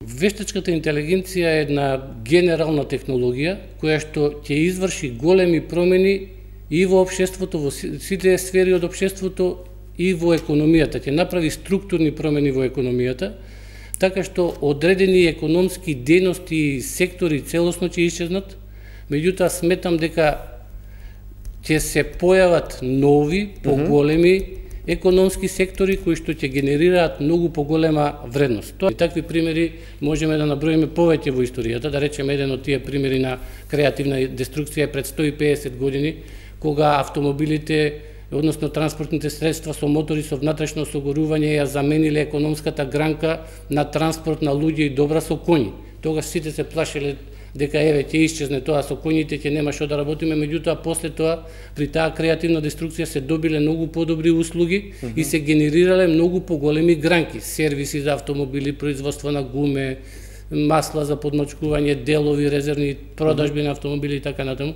Вештачката интелигенција е една генерална технологија која што ќе изврши големи промени и во општеството, во сите сфери од општеството и во економијата. Ќе направи структурни промени во економијата, така што одредени економски дејности и сектори целосно ќе исчезнат. Меѓутоа сметам дека ќе се појават нови, поголеми економски сектори кои што ќе генерираат многу поголема вредност. И такви примери можеме да наброиме повеќе во историјата, да речеме еден од тие примери на креативна деструкција пред 150 години, кога автомобилите, односно транспортните средства со мотори со внатрешно осигурување ја замениле економската гранка на транспорт на луѓе и добра со коњи. Тогаш сите се плашеле дека еве ќе исчезне тоа со коњите, ќе нема што да работиме, меѓутоа после тоа при таа креативна деструкција се добиле многу подобри услуги и се генерирале многу поголеми гранки, сервиси за автомобили, производство на гуме, масла за подмачкување, делови, резервни продажби на автомобили и така натаму.